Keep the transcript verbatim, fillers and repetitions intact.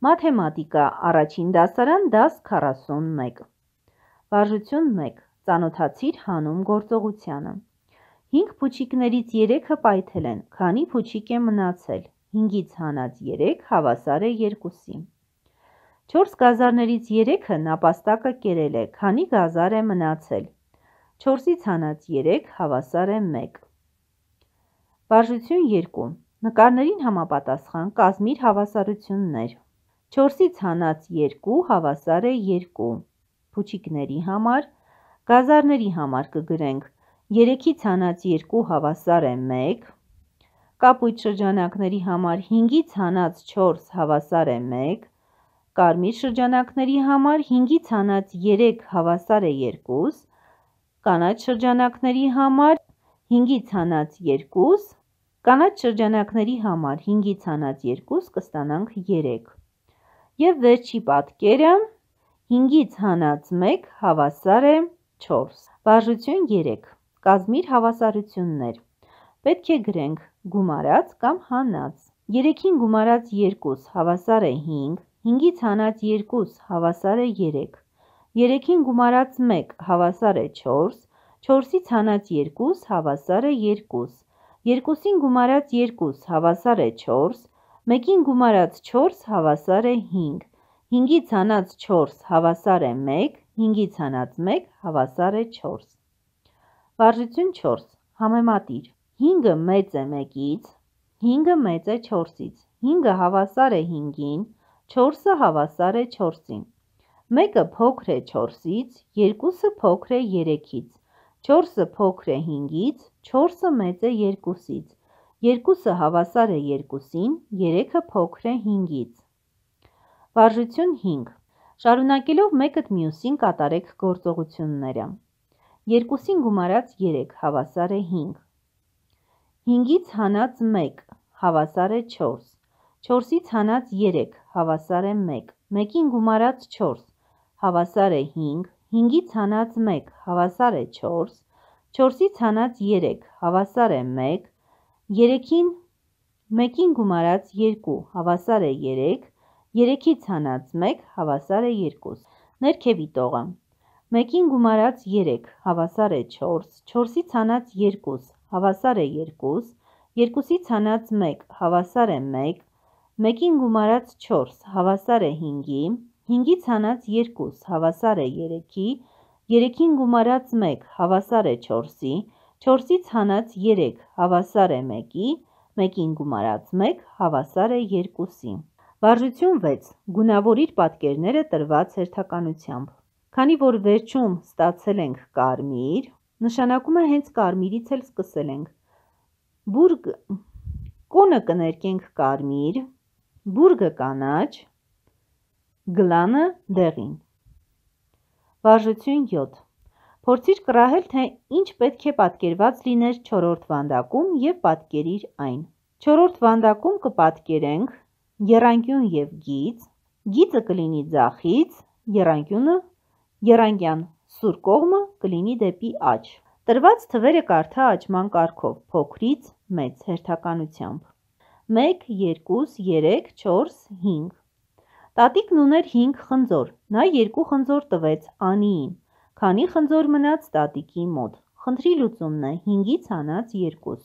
Մաթեմատիկա առաջին դասարան դաս քառասունմեկ Վարժություն մեկ Ծանոթացիր հանուն գործողությանը հինգ փուչիկներից երեքը պայթել են, քանի փուչիկ է մնացել, հինգից հանած երեք հավասար է երկուսի։ չորս գազարներից երեքը նապաստակը կերել է, քանի գազար է մնացել, չորսից հանած երեք հավասար է մեկ։ Վարժություն երկու Նկարներին համապատասխան կազմիր հավասարություններ։ չորսից հանած երկու հավասար է երկու, փուչիկների համար, գազարների համար կգրենք երեքից հանած երկու հավասար է մեկ, կապույտ շրջանակների համար հինգից հանած չորս հավասար է մեկ, կարմիր շրջանակների համար հինգից հանած երեք հավասար է երկու, կանաչ շրջանակների համար հինգից հանած երկու, կանաչ շրջանակների համար հինգից հանած երկու կստանանք երեք։ Եվ վերջի պատկերը հինգից հանած մեկ հավասար է չորս։ Վարժություն երեք Կազմիր հավասարություններ։ Պետք է գրենք գումարած կամ հանած։ երեքին գումարած երկու հավասար է հինգ, հինգից հանած երկու հավասար է երեք, երեքին գումարած մեկ հավասար է չորս, չորսից հանած երկու հավասար է երկու, երկուսին գումարած երկու հավասար է չորս, մեկին գումարած չորս հավասար է հինգ, հինգից հանած չորս հավասար է մեկ, հինգից հանած մեկ հավասար է չորս։ Վարժություն չորս Համեմատիր։ հինգը մեծ է մեկից, հինգը մեծ է չորսից, հինգը հավասար է հինգին, չորսը հավասար է չորսին, մեկը փոքր է չորսից, երկուսը փոքր է երեքից, չորսը փոքր է հինգից, չորսը մեծ է երկուսից, երկուսը հավասար է երկուսին, երեքը փոքր է հինգից։ Վարժություն հինգ Շարունակելով մեկըդ մյուսին կատարեք գործողությունները։ երկուսին գումարած երեք հավասար է հինգ, հինգից հանած մեկ հավասար է չորս, չորսից հանած երեք հավասար է մեկ, մեկին գումարած չորս հավասար է հինգ, հինգից հանած մեկ հավասար է չորս, չորսից հանած երեք հավասար է մեկ, երեքին մեկին գումարած երկու հավասար է երեք, երեքից հանած մեկ հավասար է երկու։ Ներքևի տողը մեկին գումարած երեք հավասար է չորս, չորսից հանած երկու հավասար է երկու, երկուսից հանած մեկ հավասար է մեկ, մեկին գումարած չորս հավասար է հինգի, հինգից հանած երկու հավասար է երեքի, երեքին գումարած մեկ հավասար է չորսի, չորսից հանած երեք հավասար է մեկի, մեկին գումարած մեկ հավասար է երկուսի։ Վարժություն վեց Գունավորիր պատկերները տրված հերթականությամբ։ Քանի որ վերջում ստացել ենք կարմիր, նշանակում է հենց կարմիրից էլ սկսել ենք։ Բուրգ կոնը կներկենք կարմիր, բուրգը կանաչ, գլանը դեղին։ Վարժություն յոթ Փորձիր կռահել, թե ինչ պետք է պատկերված լիներ չորրորդ վանդակում և պատկերիր այն։ Չորրորդ վանդակում կպատկերենք եռանկյուն և գիծ, գիծը կլինի ձախից, եռանկյունը եռանկյան սուր կողմը կլինի դեպի աջ։ Տրված թվերը կարդա աճման կարգով փոքրից մեծ հերթականությամբ։ մեկ, երկու, երեք, չորս, հինգ։ Տատիկն ուներ հինգ խնձոր, նա երկու խնձոր տվեց Անիին, քանի խնձոր մնաց տատիկի մոտ։ Խնդրի լուծումն է հինգից հանած երկու։